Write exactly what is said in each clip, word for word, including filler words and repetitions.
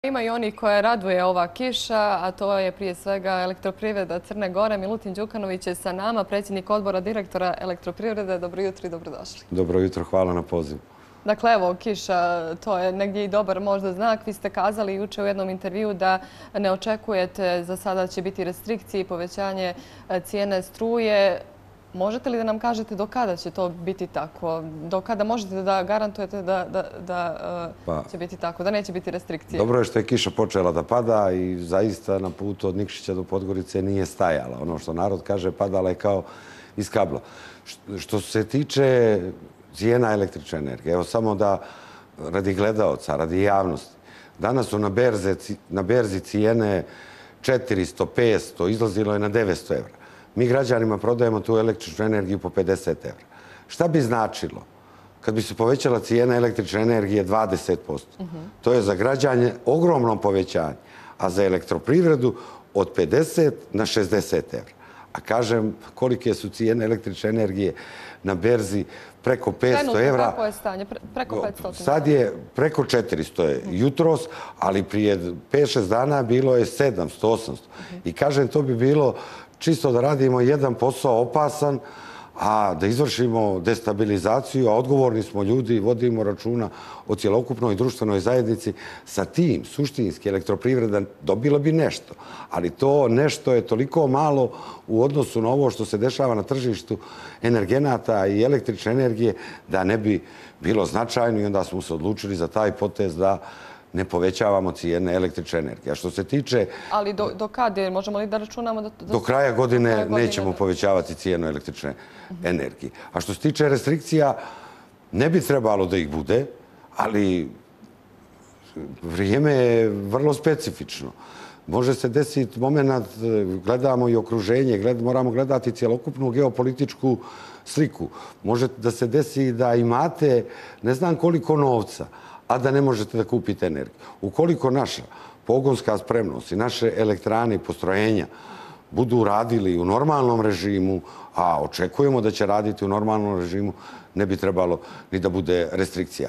Ima i oni koje raduje ova kiša, a to je prije svega Elektroprivreda Crne Gore. Milutin Đukanović je sa nama, predsjednik odbora direktora Elektroprivrede. Dobro jutro i dobrodošli. Dobro jutro, hvala na pozivu. Dakle, evo, kiša, to je negdje i dobar možda znak. Vi ste kazali juče u jednom intervju da ne očekujete za sada će biti restrikcije i povećanje cijene struje. Možete li da nam kažete do kada će to biti tako? Do kada možete da garantujete da, da, da pa, će biti tako, da neće biti restrikcije? Dobro je što je kiša počela da pada i zaista na putu od Nikšića do Podgorice nije stajala. Ono što narod kaže, padala je kao iz kabla. Što se tiče cijena električne energije, evo samo da radi gledaoca, radi javnosti. Danas su na, berze, na berzi cijene četiristo, petsto, izlazilo je na devetsto evra. Mi građanima prodajemo tu električnu energiju po pedeset evra. Šta bi značilo kad bi se povećala cijena električne energije dvadeset posto? To je za građane ogromno povećanje, a za elektroprivredu od pedeset na šezdeset evra. A kažem kolike su cijene električne energije na berzi preko petsto evra. Kako je stanje? Preko petsto? Sad je preko četiristo je jutros, ali prije pet šest dana bilo je sedamsto osamsto. I kažem, to bi bilo čisto da radimo jedan posao opasan, a da izvršimo destabilizaciju, a odgovorni smo ljudi, vodimo računa o cjelokupnoj društvenoj zajednici. Sa tim, suštinski, elektroprivreda dobila bi nešto, ali to nešto je toliko malo u odnosu na ovo što se dešava na tržištu energenata i električne energije da ne bi bilo značajno i onda smo se odlučili za taj potez da ne povećavamo cijene električne energije. A što se tiče... Ali do, do kada je? Možemo li da računamo da... Do kraja godine nećemo povećavati cijenu električne energije. A što se tiče restrikcija, ne bi trebalo da ih bude, ali vrijeme je vrlo specifično. Može se desiti moment, gledamo i okruženje, gled, moramo gledati cjelokupnu geopolitičku sliku. Može da se desi da imate ne znam koliko novca, a da ne možete da kupite energiju. Ukoliko naša pogonska spremnost i naše elektrane i postrojenja budu radili u normalnom režimu, a očekujemo da će raditi u normalnom režimu, ne bi trebalo ni da bude restrikcija.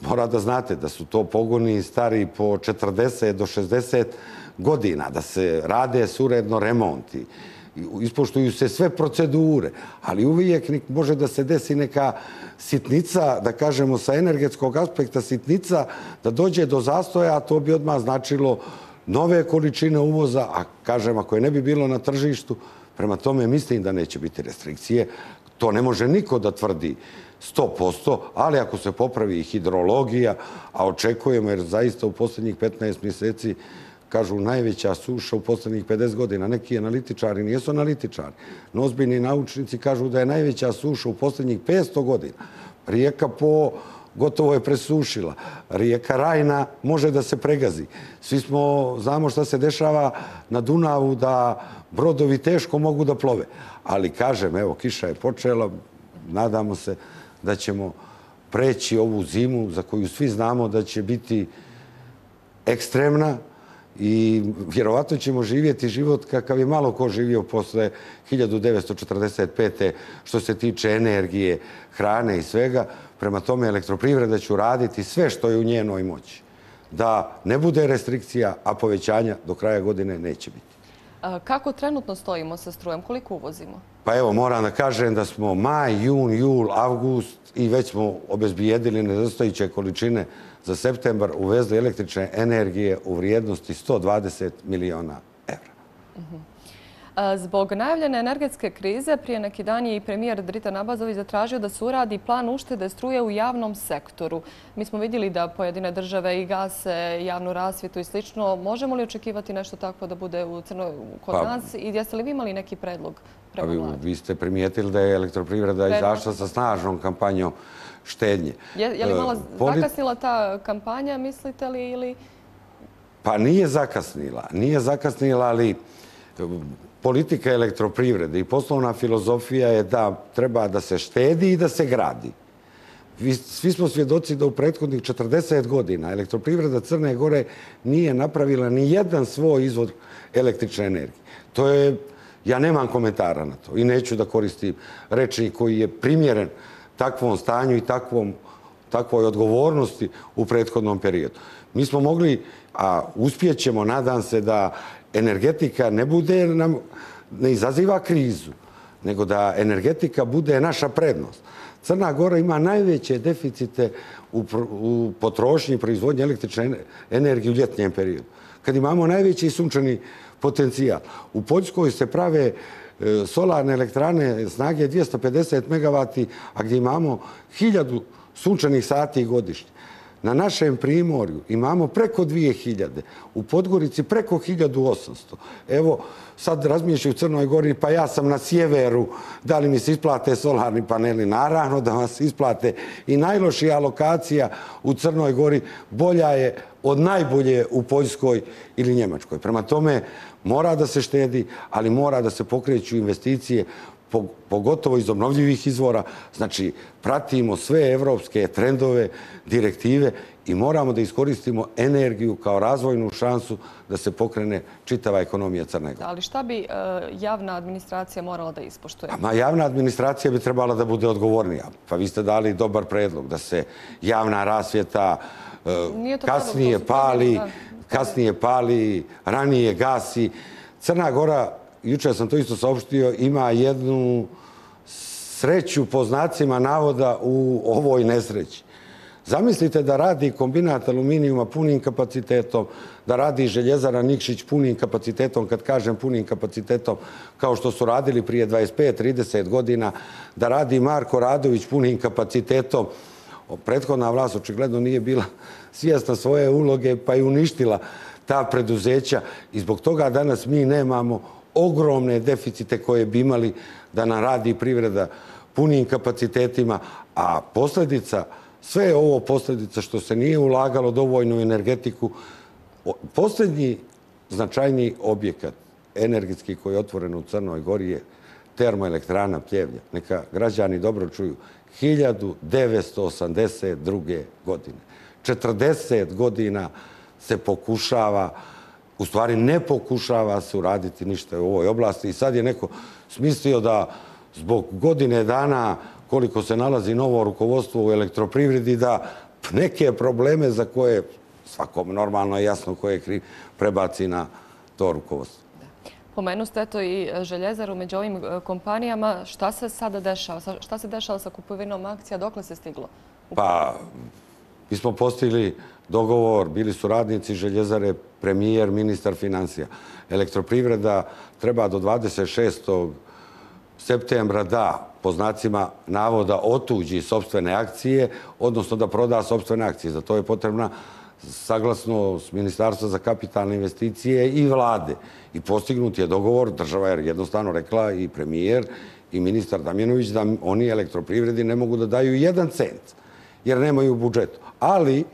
Mora da znate da su to pogoni stari po četrdeset do šezdeset godina, da se rade suredno remonti, ispoštuju se sve procedure, ali uvijek može da se desi neka sitnica, da kažemo sa energetskog aspekta sitnica, da dođe do zastoja, a to bi odmah značilo nove količine uvoza, a kažem, ako je ne bi bilo na tržištu, prema tome mislim da neće biti restrikcije. To ne može niko da tvrdi sto posto, ali ako se popravi hidrologija, a očekujemo jer zaista u posljednjih petnaest mjeseci kažu najveća suša u posljednjih pedeset godina. Neki analitičari nijesu analitičari. No ozbiljni naučnici kažu da je najveća suša u posljednjih petsto godina. Rijeka Po gotovo je presušila. Rijeka Rajna može da se pregazi. Svi smo, znamo šta se dešava na Dunavu, da brodovi teško mogu da plove. Ali kažem, evo, kiša je počela, nadamo se da ćemo preći ovu zimu za koju svi znamo da će biti ekstremna, i vjerovatno ćemo živjeti život kakav je malo ko živio posle hiljadu devetsto četrdeset pete što se tiče energije, hrane i svega. Prema tome elektroprivreda će raditi sve što je u njenoj moći. Da ne bude restrikcija, a povećanja do kraja godine neće biti. Kako trenutno stojimo sa strujem? Koliko uvozimo? Pa evo, moram da kažem da smo maj, jun, jul, avgust i već smo obezbijedili nedostajuće količine za septembar, uvezli električne energije u vrijednosti sto dvadeset miliona evra. Zbog najavljene energetske krize, prije neki dan je i premijer Dritan Abazović zatražio da se uradi plan uštede struje u javnom sektoru. Mi smo vidjeli da pojedine države i gase javnu rasvjetu i slično. Možemo li očekivati nešto tako da bude u Crnoj kod pa, nas? I jeste li vi imali neki predlog prema Vladi? Vi ste primijetili da je elektroprivreda izašla sa snažnom kampanjom štednje. Je, je li malo zakasnila ta kampanja, mislite li? Ili... Pa nije zakasnila. Nije zakasnila, ali politika elektroprivrede i poslovna filozofija je da treba da se štedi i da se gradi. Svi smo svjedoci da u prethodnih četrdeset godina elektroprivreda Crne Gore nije napravila ni jedan svoj izvor električne energije. To je, ja nemam komentara na to i neću da koristim rečnik koji je primjeren takvom stanju i takvom takvoj odgovornosti u prethodnom periodu. Mi smo mogli, a uspjećemo, nadam se, da energetika ne bude, ne izaziva krizu, nego da energetika bude naša prednost. Crna Gora ima najveće deficite u potrošnji i proizvodnji električne energije u ljetnjem periodu, kad imamo najveći sunčani potencijal. U Poljskoj se prave solarne elektrane snage dvjesto pedeset megavati, a gdje imamo hiljadu sunčanih sati godišnje. Na našem primorju imamo preko dvije hiljade, u Podgorici preko hiljadu osamsto. Evo, sad razmišljaju u Crnoj Gori, pa ja sam na sjeveru, da li mi se isplate solarni paneli? Naravno da vam se isplate. I najlošija lokacija u Crnoj Gori bolja je od najbolje u Poljskoj ili Njemačkoj. Prema tome, mora da se štedi, ali mora da se pokreću investicije, pogotovo iz obnovljivih izvora. Znači, pratimo sve evropske trendove, direktive i moramo da iskoristimo energiju kao razvojnu šansu da se pokrene čitava ekonomija Crne Gore. Ali šta bi javna administracija morala da ispoštuje? Ma javna administracija bi trebala da bude odgovornija. Pa vi ste dali dobar predlog da se javna rasvjeta kasnije pali, kasnije pali, ranije gasi. Crna Gora, jučer sam to isto saopštio, ima jednu sreću po znacima navoda u ovoj nesreći. Zamislite da radi kombinat aluminijuma punim kapacitetom, da radi željezara Nikšić punim kapacitetom, kad kažem punim kapacitetom, kao što su radili prije dvadeset pet trideset godina, da radi Marko Radović punim kapacitetom. Prethodna vlast očigledno nije bila svjesna svoje uloge pa je uništila ta preduzeća i zbog toga danas mi nemamo ogromne deficite koje bi imali da nam radi privreda punim kapacitetima, a posljedica, sve je ovo posljedica što se nije ulagalo dovoljno u energetiku. Posljednji značajni objekat energetski koji je otvoren u Crnoj Gori je termoelektrana Pljevlja. Neka građani dobro čuju. hiljadu devetsto osamdeset druge. godine. četrdeset godina se pokušava, u stvari ne pokušava se uraditi ništa u ovoj oblasti i sad je neko smislio da zbog godine dana koliko se nalazi novo rukovodstvo u elektroprivredi da neke probleme za koje svakom normalno je jasno ko je kriv prebaci na to rukovodstvo. Pomenu ste eto i željezaru među ovim kompanijama. Šta se sada dešava? Šta se dešava sa kupovinom akcija? Dokle se stiglo? Pa, mi smo postigli dogovor, bili su radnici željezare, premijer, ministar financija. Elektroprivreda treba do dvadeset šestog septembra da, po znacima navoda, otuđi sopstvene akcije, odnosno da proda sopstvene akcije. Za to je potrebna saglasnost Ministarstva za kapitalne investicije i vlade. I postignut je dogovor, država je jednostavno rekla i premijer i ministar Damjanović da oni elektroprivredi ne mogu da daju jedan cent, jer nemaju u budžetu. Ali,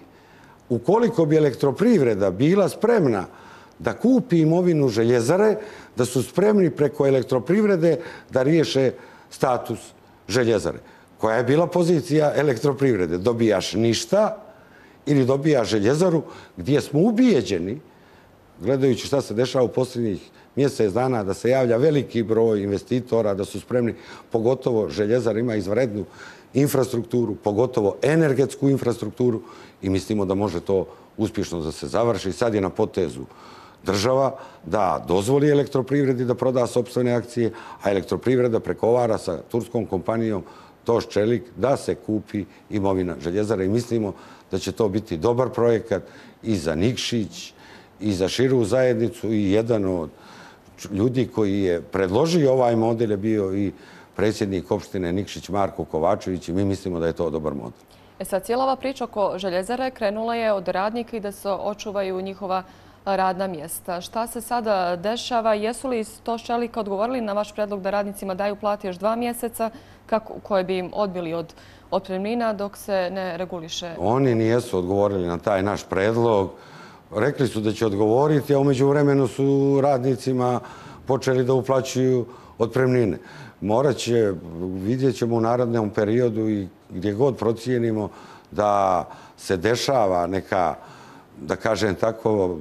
ukoliko bi elektroprivreda bila spremna da kupi imovinu željezare, da su spremni preko elektroprivrede da riješe status željezare. Koja je bila pozicija elektroprivrede? Dobijaš ništa ili dobijaš željezaru gdje smo ubijeđeni, gledajući šta se dešava u posljednjih mjesec dana, da se javlja veliki broj investitora, da su spremni, pogotovo željezar ima izvanrednu infrastrukturu, pogotovo energetsku infrastrukturu i mislimo da može to uspješno da se završi. Sad je na potezu država da dozvoli elektroprivredi da proda sopstvene akcije, a elektroprivreda pregovara sa turskom kompanijom Toš Čelik da se kupi imovina željezara i mislimo da će to biti dobar projekat i za Nikšić i za širu zajednicu i jedan od ljudi koji je predložio ovaj model je bio i predsjednik opštine Nikšić Marko Kovačević i mi mislimo da je to dobar model. E sad, cijela ova priča oko željezare krenula je od radnika i da se očuvaju njihova radna mjesta. Šta se sada dešava? Jesu li Toš Čelika odgovorili na vaš predlog da radnicima daju plati još dva mjeseca koje bi im odbili od otpremnina dok se ne reguliše? Oni nijesu odgovorili na taj naš predlog. Rekli su da će odgovoriti, a umeđu vremenu su radnicima počeli da uplaćuju otpremnine. Morat će, vidjet ćemo u narednom periodu i gdje god procijenimo da se dešava neka, da kažem tako,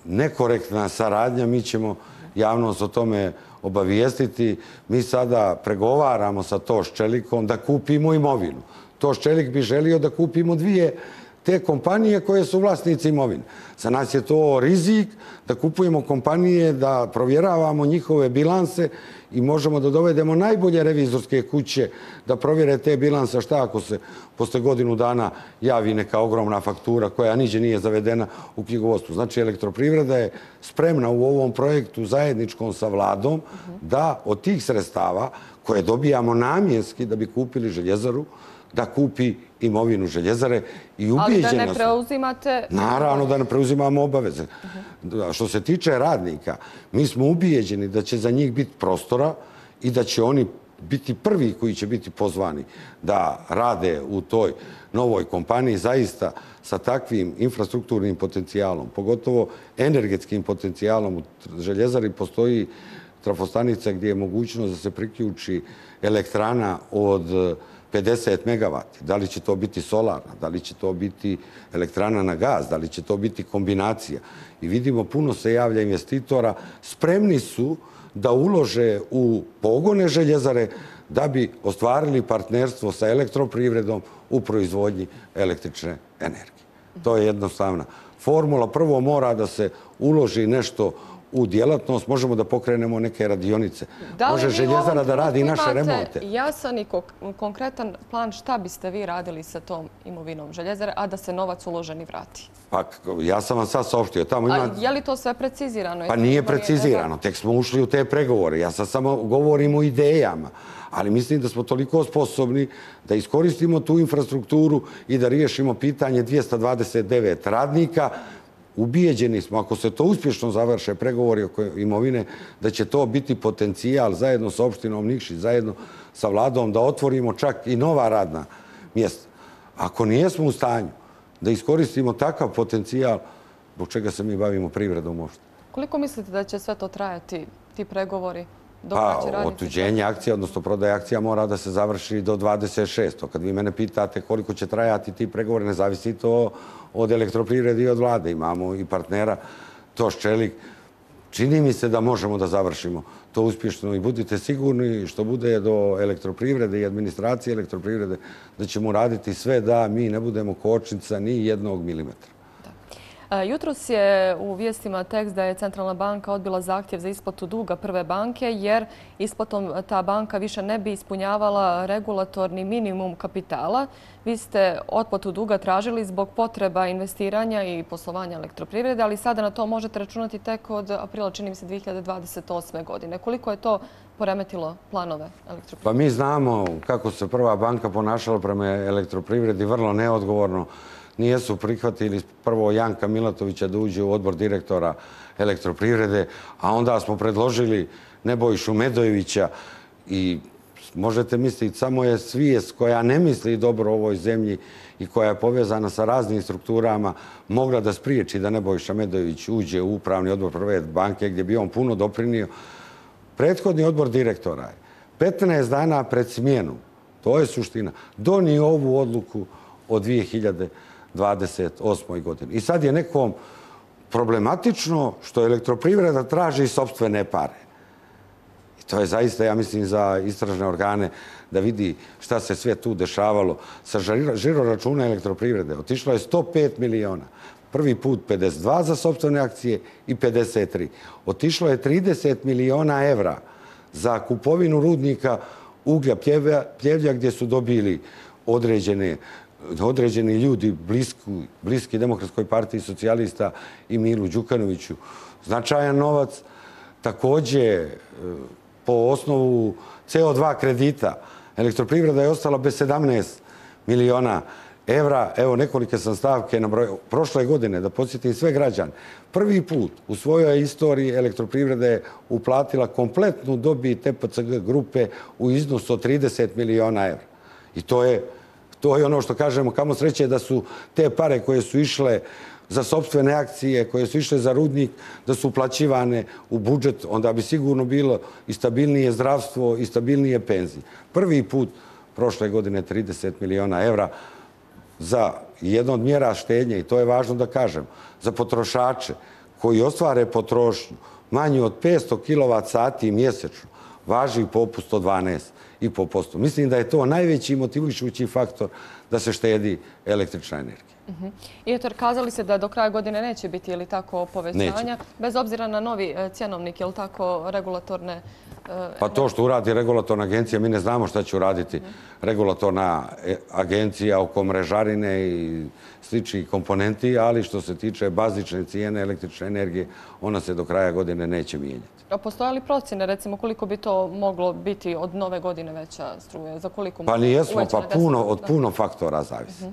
nekorektna saradnja, mi ćemo javnost o tome obavijestiti. Mi sada pregovaramo sa Toš Čelikom da kupimo imovinu. Toš Čelik bi želio da kupimo dvije te kompanije koje su vlasnici imovine. Za nas je to rizik da kupujemo kompanije, da provjeravamo njihove bilanse i možemo da dovedemo najbolje revizorske kuće da provjere te bilanse. Šta ako se posle godinu dana javi neka ogromna faktura koja niđe nije zavedena u knjigovodstvu? Znači, Elektroprivreda je spremna u ovom projektu zajedničkom sa vladom da od tih sredstava koje dobijamo namjenski da bi kupili željezaru, da kupi imovinu željezare i ubijeđena su. Ali da ne preuzimate... Naravno da ne preuzimamo obaveze. Što se tiče radnika, mi smo ubijeđeni da će za njih biti prostora i da će oni biti prvi koji će biti pozvani da rade u toj novoj kompaniji zaista sa takvim infrastrukturnim potencijalom, pogotovo energetskim potencijalom. U željezari postoji trafostanica gdje je mogućnost da se priključi elektrana od pedeset megavati. Da li će to biti solarna, da li će to biti elektrana na gaz, da li će to biti kombinacija. I vidimo, puno se javlja investitora, spremni su da ulože u pogone željezare da bi ostvarili partnerstvo sa Elektroprivredom u proizvodnji električne energije. To je jednostavna formula. Prvo mora da se uloži nešto u djelatnost, možemo da pokrenemo neke radionice. Može željezara da radi i naše remonte. Da li vi jasan i konkretan plan šta biste vi radili sa tom imovinom željezare, a da se novac uloženi vrati? Pa ja sam vam sad saopštio. A je li to sve precizirano? Pa nije precizirano. Tek smo ušli u te pregovore. Ja sad samo govorim o idejama. Ali mislim da smo toliko sposobni da iskoristimo tu infrastrukturu i da riješimo pitanje dvjesto dvadeset devet radnika. Ubijeđeni smo, ako se to uspješno završe pregovori oko imovine, da će to biti potencijal zajedno sa opštinom Nikšić, zajedno sa vladom, da otvorimo čak i nova radna mjesta. Ako nijesmo u stanju da iskoristimo takav potencijal, zbog čega se mi bavimo privredom uopšte? Koliko mislite da će sve to trajati, ti pregovori? Pa, otuđenje akcija, odnosno prodaje akcija mora da se završi do dvadeset šestog Kad vi mene pitate koliko će trajati ti pregovori, ne zavisi to od Elektroprivrede i od vlade. Imamo i partnera, Toš Čelik. Čini mi se da možemo da završimo to uspješno i budite sigurni što bude do Elektroprivrede i administracije Elektroprivrede da ćemo raditi sve da mi ne budemo kočnica ni jednog milimetra. Jutros je u vijestima tekst da je Centralna banka odbila zahtjev za isplatu duga Prve banke jer isplatom ta banka više ne bi ispunjavala regulatorni minimum kapitala. Vi ste otplatu duga tražili zbog potreba investiranja i poslovanja Elektroprivrede, ali sada na to možete računati tek od aprila, čini mi se, dvije hiljade dvadeset osme godine. Koliko je to poremetilo planove Elektroprivrede? Pa mi znamo kako se Prva banka ponašala prema Elektroprivredi, vrlo neodgovorno. Nijesu prihvatili prvo Janka Milatovića da uđe u odbor direktora Elektroprivrede, a onda smo predložili Nebojšu Medojevića i možete misliti, samo je svijest koja ne misli dobro o ovoj zemlji i koja je povezana sa raznim strukturama mogla da spriječi da Nebojša Medojević uđe u upravni odbor Prve banke gdje bi on puno doprinio. Prethodni odbor direktora je petnaest dana pred smjenu, to je suština, donio ovu odluku od dvije hiljade dvadeset osme godine. I sad je nekom problematično što Elektroprivreda traži sopstvene pare. I to je zaista, ja mislim, za istražne organe da vidi šta se sve tu dešavalo. Sa žiro računa Elektroprivrede otišlo je sto pet miliona. Prvi put pedeset dva za sopstvene akcije i pedeset tri. Otišlo je trideset miliona evra za kupovinu rudnika uglja Pljevlja gdje su dobili određene određeni ljudi bliski Demokratskoj partiji socijalista i Milu Đukanoviću. Značajan novac. Također, po osnovu C O dva kredita, Elektroprivreda je ostala bez sedamnaest miliona evra. Evo, nekolike sam stavke na broj. Prošle godine, da podsjetim sve građane, prvi put u svojoj istoriji Elektroprivreda je uplatila kompletnu dobit T P C G grupe u iznosu od trideset miliona evra. I to je To je ono što kažemo, kamo sreće da su te pare koje su išle za sopstvene akcije, koje su išle za rudnik, da su uplaćivane u budžet, onda bi sigurno bilo i stabilnije zdravstvo i stabilnije penzije. Prvi put prošle godine trideset miliona evra za jedno od mjera štednje, i to je važno da kažem, za potrošače koji ostvare potrošnju manju od petsto kilovat sati mjesečno, važi popust od dvanaest i po posto. Mislim da je to najveći motivišući faktor da se štedi električna energija. I eto, kazali ste da do kraja godine neće biti, je li tako, povećanja, bez obzira na novi cjenovnik, je li tako, regulatorne... Pa to što uradi regulatorna agencija, mi ne znamo šta će uraditi regulatorna agencija oko mrežarine i sličnih komponenti, ali što se tiče bazične cijene električne energije, ona se do kraja godine neće mijenjati. A postoje li procjene, recimo, koliko bi to moglo biti od nove godine veća struja? Za koliko? Pa nijesmo, pa puno, od puno faktora zavisi.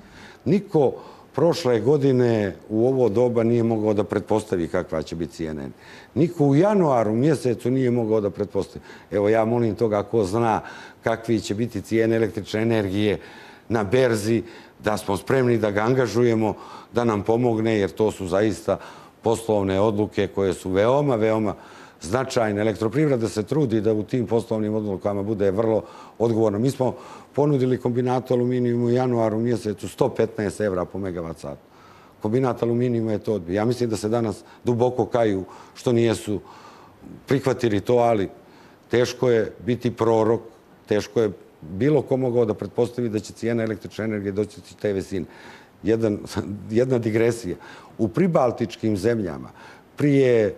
Niko prošle godine u ovo doba nije mogao da pretpostavi kakva će biti cijena. Niko u januaru mjesecu nije mogao da pretpostavi. Evo, ja molim toga ko zna kakvi će biti cijene električne energije na berzi, da smo spremni da ga angažujemo, da nam pomogne, jer to su zaista poslovne odluke koje su veoma, veoma značajne. Elektroprivreda se trudi da u tim poslovnim odlukama bude vrlo odgovorno. Mi smo ponudili kombinatu aluminijuma u januaru mjesecu sto petnaest evra po megavat satu. Kombinat aluminijuma je to odbio. Ja mislim da se danas duboko kaju što nijesu prihvatili to, ali teško je biti prorok, teško je bilo ko mogao da pretpostavi da će cijena električne energije doći te visine. Jedan, jedna digresija. U pribaltičkim zemljama prije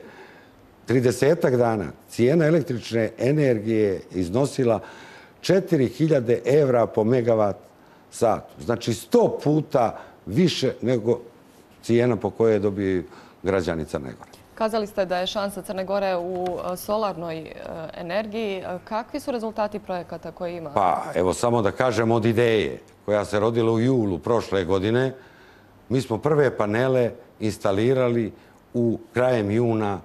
tridesetak dana cijena električne energije iznosila četiri hiljade evra po megavat satu. Znači sto puta više nego cijena po kojoj dobiju građani Crne Gore. Kazali ste da je šansa Crne Gore u solarnoj energiji. Kakvi su rezultati projekata koje ima? Pa evo samo da kažem od ideje koja se rodila u julu prošle godine. Mi smo prve panele instalirali u krajem juna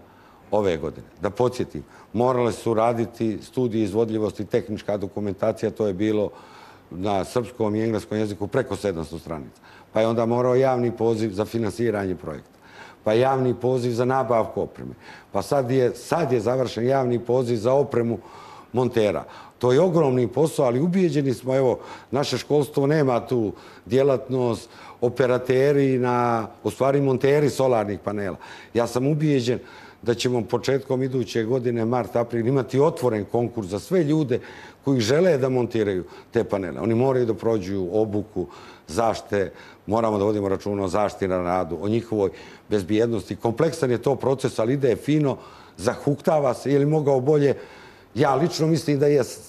ove godine. Da podsjetim, morale su raditi studije izvodljivosti, tehnička dokumentacija, to je bilo na srpskom i engleskom jeziku preko sedamsto stranica. Pa je onda morao javni poziv za finansiranje projekta. Pa javni poziv za nabavku opreme. Pa sad je, sad je završen javni poziv za opremu montera. To je ogromni posao, ali ubijeđeni smo, evo, naše školstvo nema tu djelatnost, operateri, na, u stvari monteri solarnih panela. Ja sam ubijeđen da ćemo početkom iduće godine, mart, april, imati otvoren konkurs za sve ljude koji žele da montiraju te panele. Oni moraju da prođu obuku, zaštite, moramo da vodimo računa o zaštiti na radu, o njihovoj bezbjednosti. Kompleksan je to proces, ali ide fino, zahuktava se, je li mogao bolje? Ja lično mislim da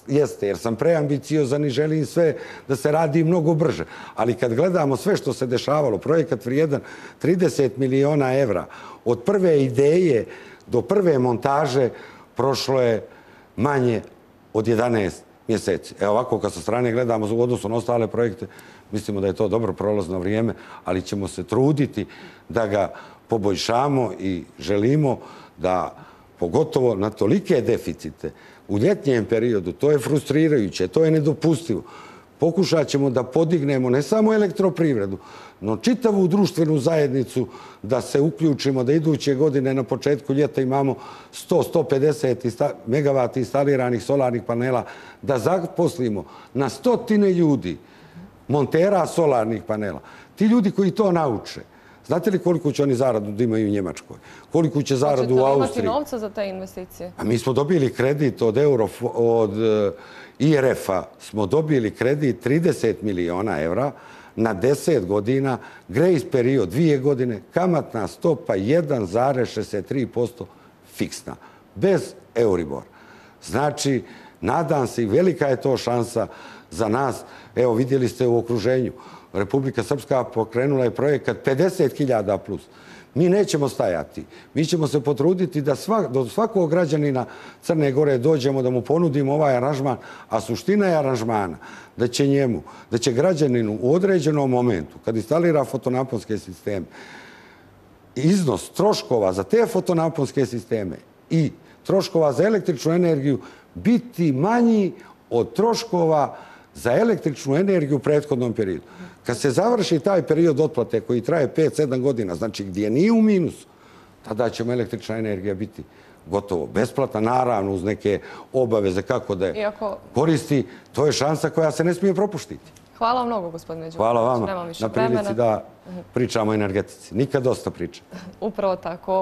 jeste, jer sam preambiciozan i želim sve da se radi mnogo brže. Ali kad gledamo sve što se dešavalo, projekat vrijedan trideset miliona evra, od prve ideje do prve montaže prošlo je manje od jedanaest mjeseci. Evo ovako, kad sa strane gledamo u odnosu na ostale projekte, mislimo da je to dobro prolazno vrijeme, ali ćemo se truditi da ga poboljšamo i želimo da, pogotovo na tolike deficite, u ljetnjem periodu, to je frustrirajuće, to je nedopustivo. Pokušat ćemo da podignemo ne samo elektroprivredu, no čitavu društvenu zajednicu da se uključimo, da iduće godine na početku ljeta imamo sto do sto pedeset megavata instaliranih solarnih panela, da zaposlimo na stotine ljudi, montera solarnih panela. Ti ljudi koji to nauče, znate li koliko će oni zaradu da imaju u Njemačkoj? Koliko će zaradu u Austriji? Hoćete li imati novca za te investicije? A mi smo dobili kredit od, Euro, od I R F-a, smo dobili kredit trideset miliona evra na deset godina, grace period dvije godine, kamatna stopa jedan zarez šezdeset tri posto fiksna, bez Euribor. Znači, nadam se i velika je to šansa za nas. Evo, vidjeli ste u okruženju. Republika Srpska pokrenula je projekat pedeset hiljada plus. Mi nećemo stajati. Mi ćemo se potruditi da svak, do svakog građanina Crne Gore dođemo, da mu ponudimo ovaj aranžman, a suština je aranžmana da će njemu, da će građaninu u određenom momentu, kad instalira fotonaponske sisteme, iznos troškova za te fotonaponske sisteme i troškova za električnu energiju biti manji od troškova za električnu energiju u prethodnom periodu. Kad se završi taj period otplate koji traje pet do sedam godina, znači gdje nije u minusu, tada će električna energija biti gotovo besplatna, naravno uz neke obaveze kako da je Iako... koristi. To je šansa koja se ne smije propuštiti. Hvala vam mnogo, gospodine Đukić. Hvala vama na prilici da pričamo o energetici. Nikad dosta priča. Upravo tako.